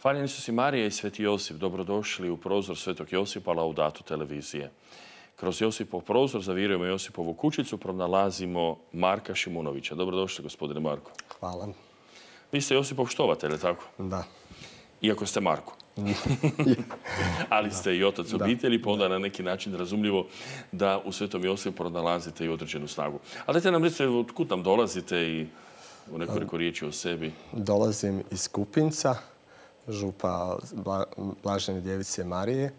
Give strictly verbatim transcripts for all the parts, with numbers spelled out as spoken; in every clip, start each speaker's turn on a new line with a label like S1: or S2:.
S1: Hvaljeni Isus i Marija i Sveti Josip, dobrodošli u prozor Svetog Josipa Laudatu televizije. Kroz Josipov prozor zavirujemo Josipovu kućicu, pronalazimo Marka Šimunovića. Dobrodošli, gospodine Marko.
S2: Hvala.
S1: Vi ste Josipov štovatelj, je tako?
S2: Da.
S1: Iako ste Marko. Ali ste i otac obitelji, pa onda na neki način razumljivo da u Svetom Josipu pronalazite i određenu snagu. Ali dajte nam recite od kud nam dolazite i u nekoliko riječi o sebi.
S2: Dolazim iz Kupinca, župa Blažene djevice Marije.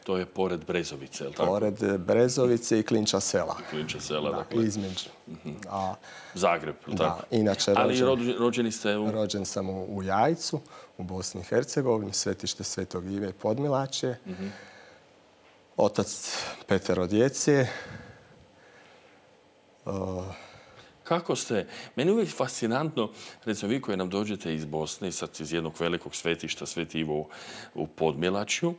S1: To je pored Brezovice, je li tako?
S2: Pored Brezovice i Klinča sela.
S1: Klinča sela,
S2: da,
S1: dakle.
S2: Između. A,
S1: Zagreb, je li tako?
S2: Da, inače
S1: Ali
S2: rođen,
S1: rođeni ste u...
S2: Rođen sam u, u Jajcu, u Bosni i Hercegovini, svetište Svetog Ive Podmilačje. Uh-huh. Otac petero djece. Uh,
S1: Kako ste, meni je uvijek fascinantno, recimo vi koji nam dođete iz Bosne, sad iz jednog velikog svetišta, Sveti Ivo u Podmilačju,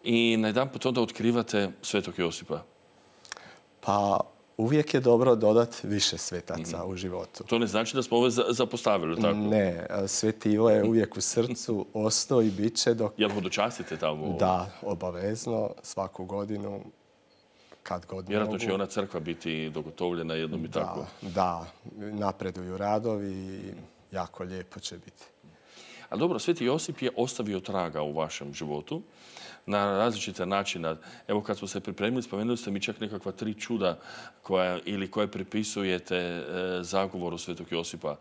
S1: i najedanput onda otkrivate Svetog Josipa.
S2: Pa uvijek je dobro dodati više svetaca mm-hmm. u životu.
S1: To ne znači da smo ove zapostavili, tako?
S2: Ne, Sveti Ivo je uvijek u srcu, ostao i bit će dok...
S1: Jel hodočastite tamo?
S2: Da, obavezno, svaku godinu. Kad god
S1: Vjerojatno
S2: mogu.
S1: će ona crkva biti dogotovljena jednom i tako.
S2: Da, napreduju radovi i jako lijepo će biti.
S1: A dobro, Sveti Josip je ostavio traga u vašem životu na različite načine. Evo kad smo se pripremili, spomenuli ste mi čak nekakva tri čuda koja, ili koje pripisujete e, zagovoru Svetog Josipa.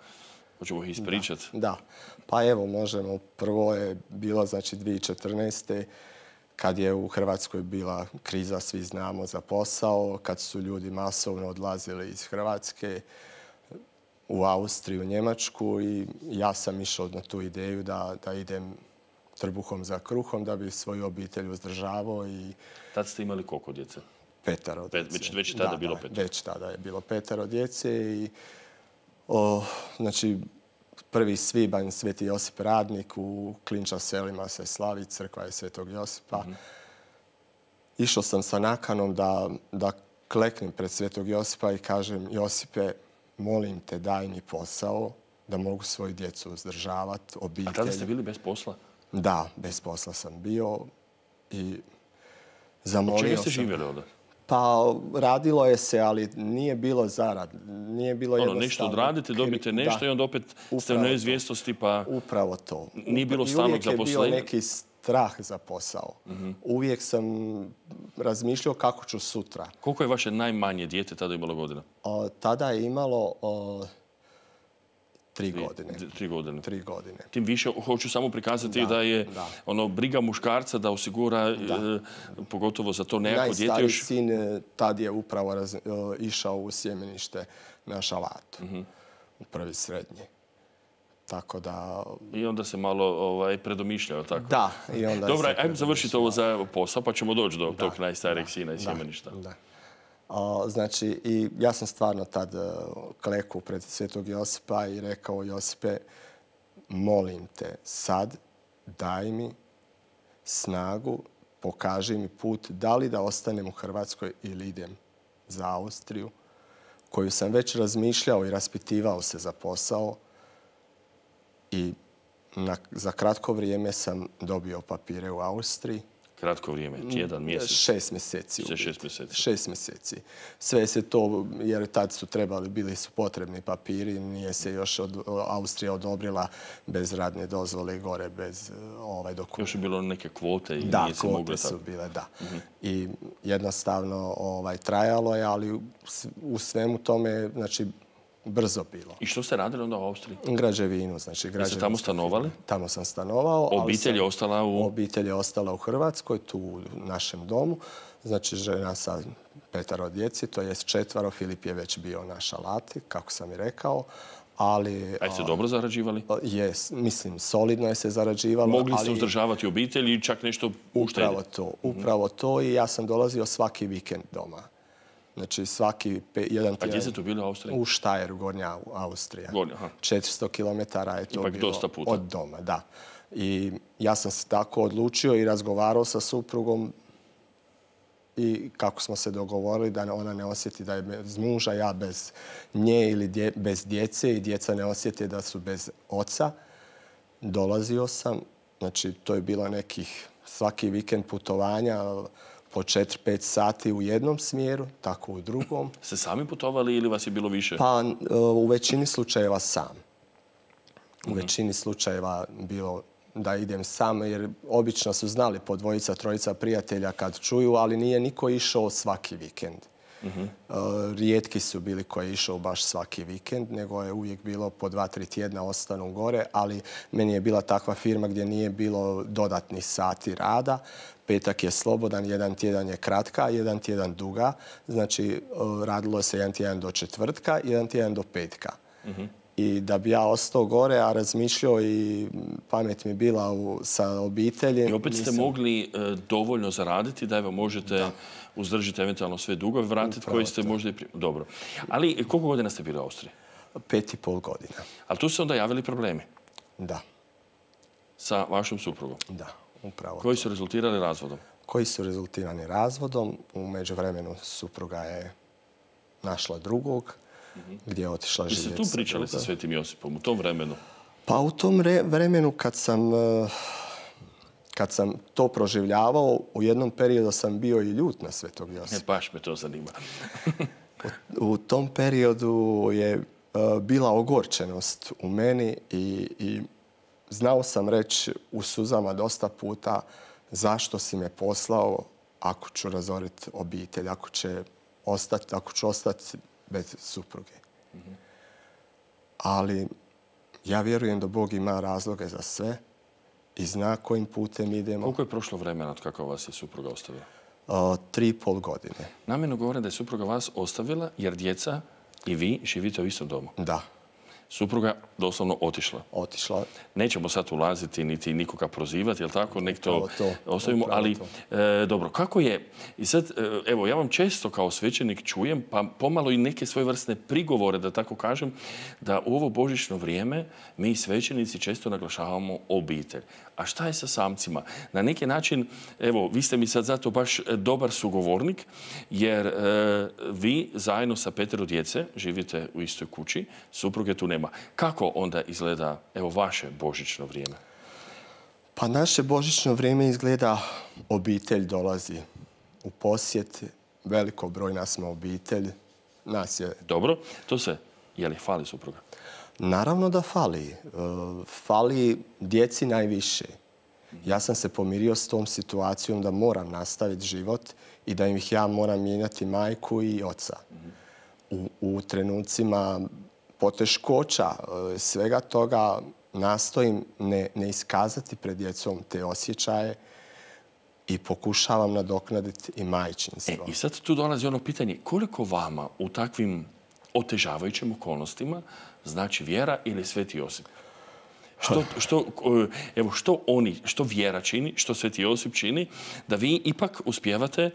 S1: Hoćemo ih ispričati?
S2: Da, da, pa evo možemo. Prvo je bilo znači dvije tisuće četrnaeste. kad je u Hrvatskoj bila kriza, svi znamo, za posao, kad su ljudi masovno odlazili iz Hrvatske u Austriju, Njemačku i ja sam išao na tu ideju da, da idem trbuhom za kruhom da bi svoju obitelj uzdržavao. I
S1: tad ste imali koliko djece?
S2: Petero djece.
S1: Već, već tada
S2: da,
S1: bilo
S2: da,
S1: petero?
S2: Već tada je bilo petero djece i o, znači prvi svibanj Sveti Josip Radnik u Klinča selima se slavi, crkva je Svetog Josipa. Mm-hmm. Išao sam sa nakanom da, da kleknem pred Svetog Josipa i kažem Josipe, molim te daj mi posao da mogu svoju djecu uzdržavati, obitelj.
S1: A tada ste bili bez posla?
S2: Da, bez posla sam bio i zamolio sam.
S1: Od čega ste živjeli onda?
S2: Pa radilo je se, ali nije bilo zarad. Nije bilo
S1: ono,
S2: jednostavno.
S1: Nešto odradite, dobite nešto da. I onda opet ste u neizvjesnosti pa...
S2: Upravo to.
S1: Nije bilo stalnog zaposlenja.
S2: Uvijek je bio neki strah za posao. Mm-hmm. Uvijek sam razmišljao kako ću sutra.
S1: Koliko je vaše najmanje dijete tada imalo godina?
S2: O, tada je imalo o, tri godine.
S1: Tri godine.
S2: Tri godine.
S1: Tim više hoću samo prikazati da, da je da. ono briga muškarca da osigura, da. E, pogotovo za to nekako dijete.
S2: Najstariji
S1: još...
S2: sin tad je upravo raz, išao u sjemenište na Šalatu. Mm-hmm. U prvi srednji. Tako da...
S1: I onda se malo ovaj, predomišljao, tako?
S2: Da. I onda
S1: Dobro, ajmo završiti ovo za posao, pa ćemo doći do da. tog najstarijeg da. sina iz sjemeništa.
S2: Da. O, znači, i ja sam stvarno tad uh, klekao pred Svetog Josipa i rekao Josipe, molim te sad, daj mi snagu, pokaži mi put, da li da ostanem u Hrvatskoj ili idem za Austriju, koju sam već razmišljao i raspitivao se za posao. I na, za kratko vrijeme sam dobio papire u Austriji.
S1: Kratko vrijeme, jedan mjesec?
S2: Šest mjeseci.
S1: Sve šest mjeseci.
S2: Šest mjeseci. Sve se to, jer tad su trebali, bili su potrebni papiri, nije se još od, Austrija odobrila bez radne dozvole gore, bez ovaj dokument.
S1: Još je bilo neke kvote i
S2: da,
S1: nije se moglo...
S2: Da, kvote su bile, da. Mm-hmm. I jednostavno ovaj, trajalo je, ali u svemu tome, znači, brzo bilo.
S1: I što ste radili onda u Austriji?
S2: Građevinu, znači građevinu.
S1: Jeste tamo stanovali?
S2: Tamo sam stanovao.
S1: Obitelj je ostala u...
S2: Obitelj je ostala u Hrvatskoj, tu u našem domu. Znači žena sa petero djeci, to jest četvaro. Filip je već bio na Šalati, kako sam i rekao. Ali...
S1: A ste dobro zarađivali?
S2: Jes, mislim, solidno je se zarađivalo.
S1: Mogli ste
S2: ali,
S1: uzdržavati obitelj i čak nešto uštediti?
S2: Upravo to, upravo mm-hmm. to i ja sam dolazio svaki vikend doma. Znači svaki pe, jedan tjedan...
S1: A gdje ste to bili u Austriji?
S2: U Štajeru, Gornja Austrija.
S1: Gornja, aha.
S2: četiristo kilometara je to
S1: Ipak
S2: bilo
S1: dosta puta.
S2: Od doma, da. I ja sam se tako odlučio i razgovarao sa suprugom i kako smo se dogovorili da ona ne osjeti da je bez muža, ja bez nje ili dje, bez djece i djeca ne osjeti da su bez oca. Dolazio sam Znači, to je bilo nekih svaki vikend putovanja po četiri pet sati u jednom smjeru, tako u drugom.
S1: Ste sami putovali ili vas je bilo više?
S2: Pa u većini slučajeva sam. U većini slučajeva bilo da idem sam, jer obično su znali po dvojica, trojica prijatelja kad čuju, ali nije niko išao svaki vikend. Rijetki su bili koji je išao baš svaki vikend, nego je uvijek bilo po dva, tri tjedna ostanu gore, ali meni je bila takva firma gdje nije bilo dodatnih sati rada. Petak je slobodan, jedan tjedan je kratka, jedan tjedan duga. Znači, radilo se jedan tjedan do četvrtka, jedan tjedan do petka. I da bi ja ostao gore, a razmišljao i pamet mi bila u, sa obitelji.
S1: I opet ste
S2: nisam...
S1: mogli e, dovoljno zaraditi da evo možete da. uzdržiti eventualno sve dugove, vratiti koji ste to. možda i... Pri... Dobro. Ali koliko godina ste bili u Austriji?
S2: Pet i pol godina.
S1: Ali tu su onda javili problemi?
S2: Da.
S1: Sa vašom suprugom?
S2: Da, upravo
S1: Koji
S2: to.
S1: su rezultirali razvodom?
S2: Koji su rezultirani razvodom. U međuvremenu supruga je našla drugog, gdje je otišla živjeti.
S1: Jeste tu pričali sa Svetim Josipom u tom vremenu?
S2: Pa u tom vremenu kad sam, kad sam to proživljavao, u jednom periodu sam bio i ljut na Svetog Josipa.
S1: Ne, baš me to zanima.
S2: u, u tom periodu je bila ogorčenost u meni i, i znao sam reći u suzama dosta puta zašto si me poslao ako ću razoriti obitelj, ako, će ostati, ako ću ostati bez supruge. Mm-hmm. Ali ja vjerujem da Bog ima razloge za sve i zna kojim putem idemo.
S1: Koliko je prošlo vremena od kako vas je supruga ostavila?
S2: O, tri i pol godine.
S1: Namjerno govorim da je supruga vas ostavila jer djeca i vi živite u istom domu.
S2: Da.
S1: Supruga doslovno otišla.
S2: Otišla.
S1: Nećemo sad ulaziti niti nikoga prozivati, jel tako? Nek to,
S2: to
S1: ostavimo. Ali, e, dobro, kako je? I sad, e, evo, ja vam često kao svećenik čujem, pa pomalo i neke svojevrsne prigovore, da tako kažem, da u ovo božićno vrijeme mi svećenici često naglašavamo obitelj. A šta je sa samcima? Na neki način, evo, vi ste mi sad zato baš dobar sugovornik, jer e, vi zajedno sa petero djece živite u istoj kući, supruge tu nema. Kako onda izgleda, evo, vaše božićno vrijeme?
S2: Pa naše božićno vrijeme izgleda, obitelj dolazi u posjet, veliko broj nas smo obitelj, nas je...
S1: Dobro, to se, je li fali supruga?
S2: Naravno da fali. Fali djeci najviše. Ja sam se pomirio s tom situacijom da moram nastaviti život i da ih ja moram mijenjati majku i oca. U, u trenucima poteškoća, svega toga nastojim ne, ne iskazati pred djecom te osjećaje i pokušavam nadoknaditi i majčinstvo.
S1: E, I sad tu dolazi ono pitanje, koliko vama u takvim otežavajućim okolnostima znači vjera ili Sveti Josip? Što, što, evo, što oni, što vjera čini, što Sveti Josip čini, da vi ipak uspijevate e,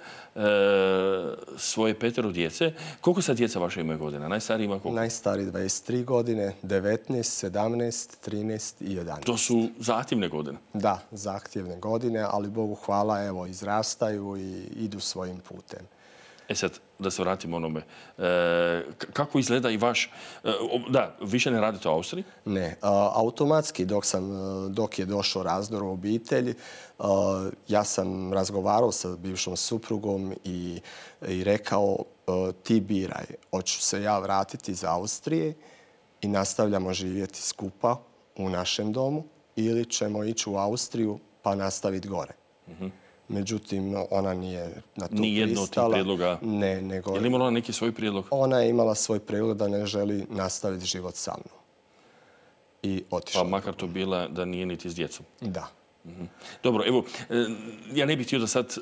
S1: svoje petero djece. Koliko sad djeca vaše imaju godina? Najstariji ima koliko?
S2: Najstariji dvadeset tri godine, devetnaest, sedamnaest, trinaest i jedanaest.
S1: To su zahtjevne godine?
S2: Da, zahtjevne godine, ali Bogu hvala, evo, izrastaju i idu svojim putem.
S1: E sad, da se vratimo onome. E, kako izgleda i vaš... E, da, više ne radite u Austriji?
S2: Ne. A, automatski, dok, sam, dok je došao razdor u obitelji, a, ja sam razgovarao sa bivšom suprugom i, i rekao a, ti biraj. Hoću se ja vratiti iz Austrije i nastavljamo živjeti skupa u našem domu ili ćemo ići u Austriju pa nastaviti gore. Mhm. Međutim, ona nije na to pristala.
S1: Nijedno od tih prijedloga?
S2: Ne, nego...
S1: Je li imala neki svoj prijedlog?
S2: Ona je imala svoj prijedlog da ne želi nastaviti život sa mnom. I otišla.
S1: Pa makar to bila da nije niti s djecom?
S2: Da.
S1: Mm-hmm. Dobro, evo, ja ne bih htio da sad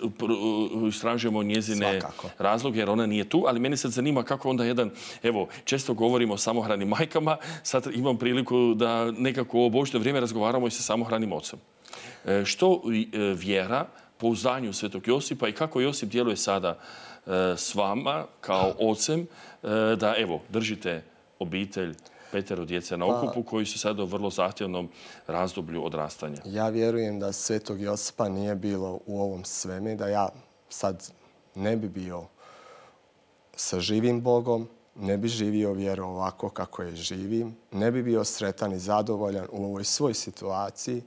S1: istražujemo njezine
S2: Svakako.
S1: razloge, jer ona nije tu, ali mene sad zanima kako onda jedan, evo, često govorimo o samohranim majkama, sad imam priliku da nekako u ovo božje vrijeme razgovaramo i sa samohranim ocem. E, što vjera po uzdanju Svetog Josipa i kako Josip djeluje sada e, s vama kao ocem e, da, evo, držite obitelj, petero djece na okupu koji su sada u vrlo zahtjevnom razdoblju odrastanja.
S2: Ja vjerujem da Svetog Josipa nije bilo u ovom sveme, da ja sad ne bi bio sa živim Bogom, ne bi živio vjeru ovako kako je živim, ne bi bio sretan i zadovoljan u ovoj svoj situaciji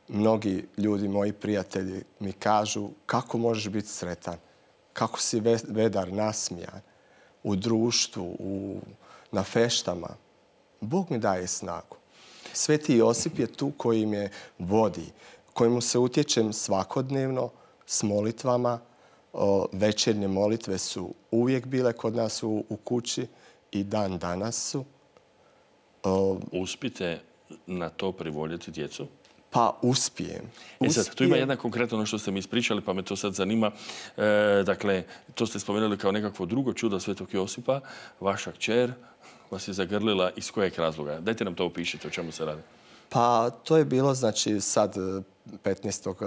S2: mnogi ljudi, moji prijatelji, mi kažu kako možeš biti sretan, kako si vedar, nasmijan, u društvu, u, na feštama. Bog mi daje snagu. Sveti Josip je tu koji me vodi, kojemu se utječem svakodnevno s molitvama. O, večernje molitve su uvijek bile kod nas u, u kući i dan danas su. O,
S1: Uspite na to privoljeti djecu?
S2: Pa uspijem.
S1: E sad, tu ima jedna konkretno ono što ste mi ispričali, pa me to sad zanima. E, dakle, to ste spomenuli kao nekakvo drugo čudo Svetog Josipa. Vaša kćer vas je zagrlila iz kojeg razloga? Dajte nam to opišite, o čemu se radi.
S2: Pa to je bilo, znači, sad petnaestog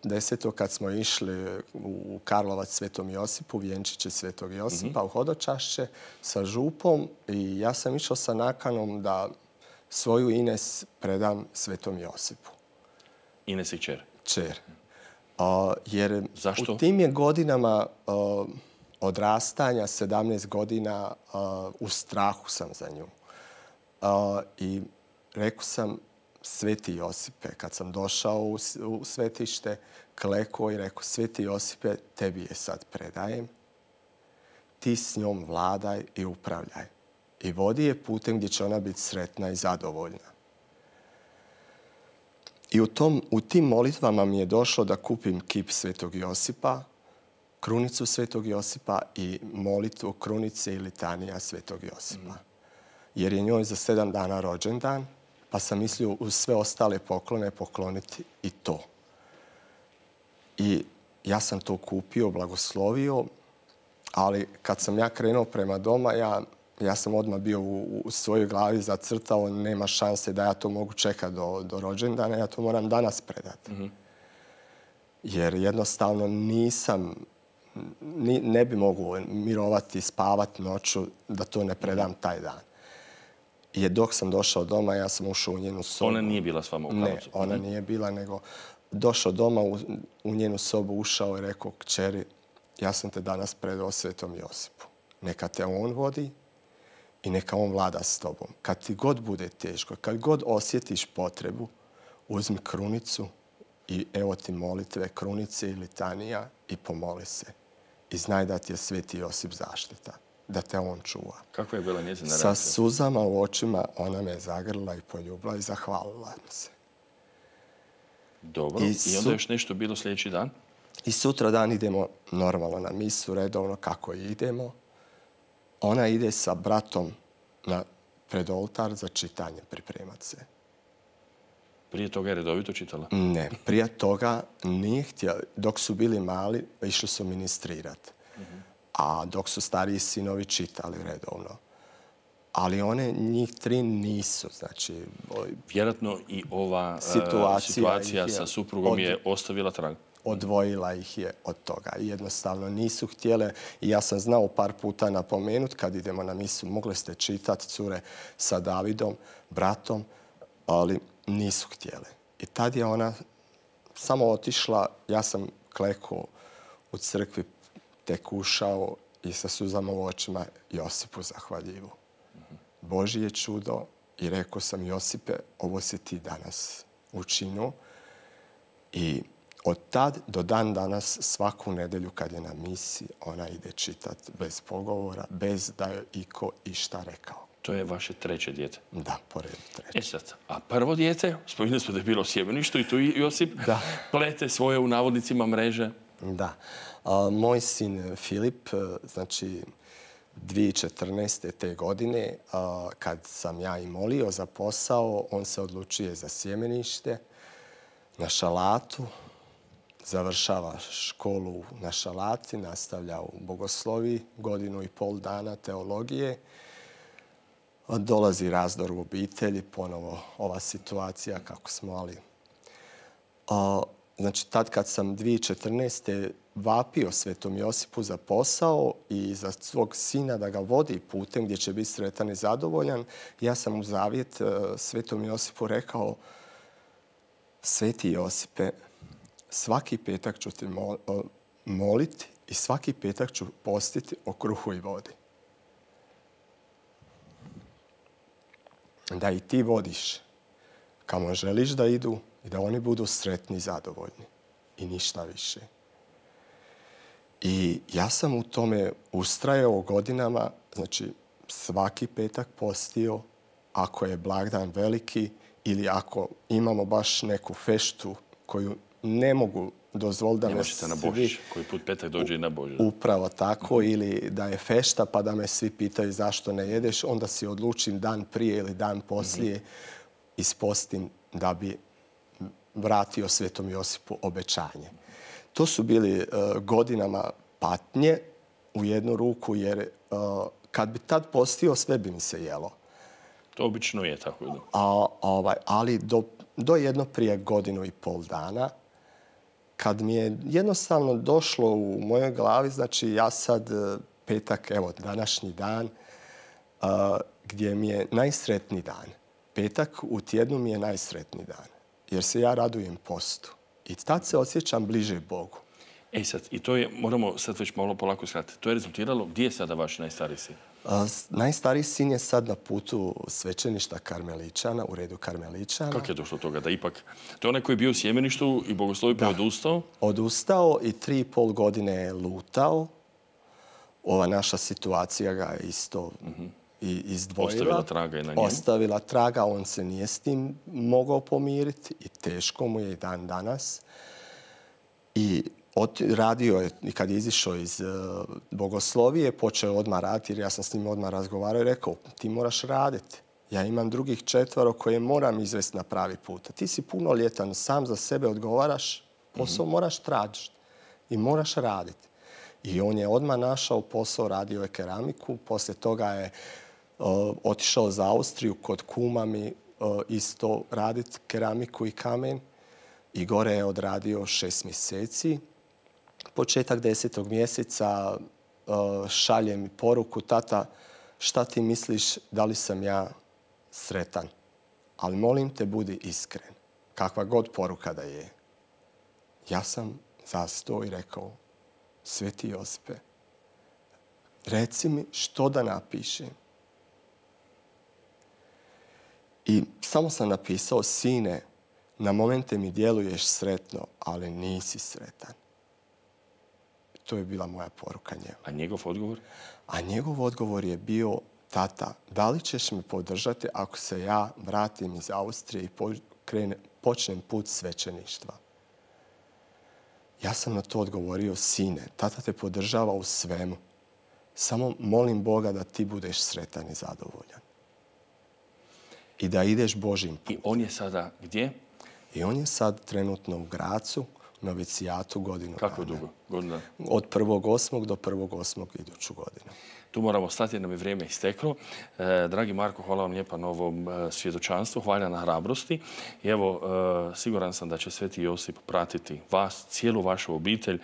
S2: desetog kad smo išli u Karlovac Svetom Josipu, vjenčiće Svetog Josipa, mm-hmm. u hodočašće sa župom i ja sam išao sa nakanom da svoju Ines predam Svetom Josipu.
S1: Ines je kćer?
S2: Kćer. Uh, jer
S1: Zašto?
S2: u tim je godinama uh, odrastanja, sedamnaest godina, uh, u strahu sam za nju. Uh, I rekao sam, Sveti Josipe, kad sam došao u, u svetište, klekao i rekao, Sveti Josipe, tebi je sad predajem. Ti s njom vladaj i upravljaj. I vodi je putem gdje će ona biti sretna i zadovoljna. I u, tom, u tim molitvama mi je došlo da kupim kip Svetog Josipa, krunicu Svetog Josipa i molitvu krunice i litanija Svetog Josipa. Jer je njoj za sedam dana rođendan, pa sam mislio uz sve ostale poklone pokloniti i to. I ja sam to kupio, blagoslovio, ali kad sam ja krenuo prema doma, ja, ja sam odmah bio u, u svojoj glavi zacrtao, nema šanse da ja to mogu čekati do, do rođendana, ja to moram danas predati. Mm-hmm. Jer jednostavno nisam, ni, ne bi mogu mirovati, spavati noću da to ne predam taj dan. I dok sam došao doma, ja sam ušao u njenu sobu.
S1: Ona nije bila s vama u Karlovcu?
S2: Ne, ona nije bila, nego došao doma, u, u njenu sobu ušao i rekao, kćeri, ja sam te danas predao Svetom Josipu. Neka te on vodi i neka on vlada s tobom. Kad ti god bude teško, kad god osjetiš potrebu, uzmi krunicu i evo ti molitve, krunice i litanija i pomoli se. I znaj da ti je Sveti Josip zaštita, da te on čuva.
S1: Kakva je bila njezina
S2: Sa
S1: reakcija?
S2: suzama u očima ona me zagrla i poljubila i zahvalila se.
S1: Dobro. I, I onda još nešto bilo sljedeći dan?
S2: I sutra dan idemo normalno na misu, redovno kako idemo. Ona ide sa bratom na pred oltar za čitanje, pripremat se.
S1: Prije toga je redovito čitala?
S2: Ne, prije toga nije htjela. Dok su bili mali, išli su ministrirati. Mm-hmm. A dok su stariji sinovi čitali redovno. Ali one, njih tri nisu. Znači,
S1: vjerojatno i ova situacija, situacija sa suprugom od, je ostavila trag.
S2: Odvojila ih je od toga. Jednostavno nisu htjele. I ja sam znao par puta napomenut kad idemo na misu, mogli ste čitati cure sa Davidom, bratom, ali nisu htjele. I tad je ona samo otišla, ja sam klekao u crkvi, tek ušao i sa suzama u očima Josipu zahvaljivo. Božje čudo i rekao sam, Josipe, ovo si ti danas učinio. I od tad do dan danas svaku nedelju kad je na misi, ona ide čitati bez pogovora, bez da je iko išta rekao.
S1: To je vaše treće dijete?
S2: Da, po redu treće.
S1: E sad, a prvo dijete, spominjali smo da je bilo u sjemeništu i tu Josip da. plete svoje u navodnicima mreže.
S2: Da. A, moj sin Filip, znači dvije tisuće četrnaeste. te godine, a, kad sam ja i molio za posao, on se odlučuje za sjemenište na Šalatu, završava školu na Šalati, nastavlja u bogosloviji, godinu i pol dana teologije. Dolazi razdor u obitelji, ponovo ova situacija kako smo, ali... A, znači, tad kad sam dvije tisuće četrnaeste. vapio Svetom Josipu za posao i za svog sina da ga vodi putem gdje će biti sretan i zadovoljan, ja sam u zavjet Svetom Josipu rekao, Sveti Josipe, svaki petak ću ti moliti i svaki petak ću postiti o kruhu i vodi. Da i ti vodiš kamo želiš da idu i da oni budu sretni i zadovoljni. I ništa više. I ja sam u tome ustrajao godinama, znači svaki petak postio, ako je blagdan veliki ili ako imamo baš neku feštu koju ne mogu dozvoliti da
S1: ne
S2: me
S1: možete na
S2: svi...
S1: Božić, koji put petak dođe i na Božić.
S2: Upravo tako, mm-hmm. ili da je fešta pa da me svi pitaju zašto ne jedeš, onda si odlučim dan prije ili dan poslije mm-hmm. ispostim da bi vratio Svetom Josipu obećanje. To su bili uh, godinama patnje u jednu ruku, jer uh, kad bi tad postio, sve bi mi se jelo.
S1: To obično je tako. Da.
S2: A, ovaj, ali do, do jedno prije godinu i pol dana, kad mi je jednostavno došlo u mojoj glavi, znači ja sad petak, evo današnji dan, uh, gdje mi je najsretniji dan. Petak u tjednu mi je najsretniji dan, jer se ja radujem postu. I tad se osjećam bliže Bogu.
S1: E sad, i to je, moramo sad već malo polako skratiti, to je rezultiralo, gdje je sada vaš najstariji sin?
S2: Uh, najstariji sin je sad na putu svećeništa Karmeličana, u redu Karmeličana.
S1: Kako je došlo do toga? Da ipak, to je onaj koji je bio u sjemeništu i bogoslovi pa odustao?
S2: Odustao i tri i pol godine je lutao. Ova naša situacija ga je isto mm-hmm. i izdvojila.
S1: Ostavila traga i na njemu.
S2: Ostavila traga, on se nije s tim mogao pomiriti i teško mu je i dan danas. I radio je, i kad je izišao iz uh, bogoslovije, počeo odmah raditi, jer ja sam s njim odmah razgovarao i rekao, ti moraš raditi. Ja imam drugih četvaro koje moram izvesti na pravi put. Ti si punoljetan, sam za sebe odgovaraš, posao mm-hmm. moraš tražiti i moraš raditi. I on je odmah našao posao, radio je keramiku, poslije toga je uh, otišao za Austriju kod kuma mi uh, isto raditi keramiku i kamen i gore je odradio šest mjeseci. Početak desetog mjeseca uh, šalje mi poruku, tata, šta ti misliš, da li sam ja sretan? Ali molim te, budi iskren. Kakva god poruka da je. Ja sam zastao i rekao, Sveti Josipe, reci mi što da napišem. I samo sam napisao, sine, na momente mi djeluješ sretno, ali nisi sretan. To je bila moja poruka njemu.
S1: A njegov odgovor?
S2: A njegov odgovor je bio, tata, da li ćeš me podržati ako se ja vratim iz Austrije i pokrene, počnem put svećeništva? Ja sam na to odgovorio, sine, tata te podržava u svemu. Samo molim Boga da ti budeš sretan i zadovoljan. I da ideš Božim putem.
S1: I on je sada gdje?
S2: I on je sad trenutno u Gracu, novicijatu godinu dana.
S1: Kako dugo? Godina?
S2: Od prvog osmog do prvog osmog iduću godinu.
S1: Tu moramo stati jer nam je vrijeme isteklo. E, dragi Marko, hvala vam lijepa na ovom e, svjedočanstvu, hvala na hrabrosti. I evo, e, siguran sam da će Sveti Josip pratiti vas, cijelu vašu obitelj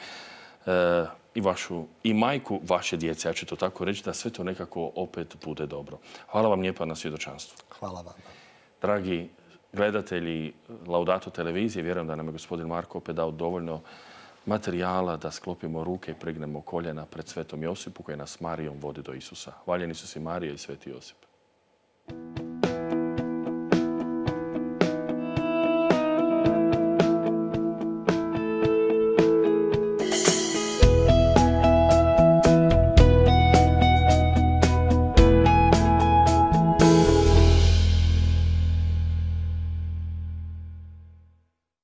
S1: e, i vašu i majku vaše djece. Ja ću to tako reći da sve to nekako opet bude dobro. Hvala vam lijepa na svjedočanstvu.
S2: Hvala vam.
S1: Dragi gledatelji Laudato televizije, vjerujem da nam je gospodin Marko opet dao dovoljno materijala da sklopimo ruke i pregnemo koljena pred Svetom Josipu koji nas Marijom vodi do Isusa. Hvaljeni su si Marija i Sveti Josip.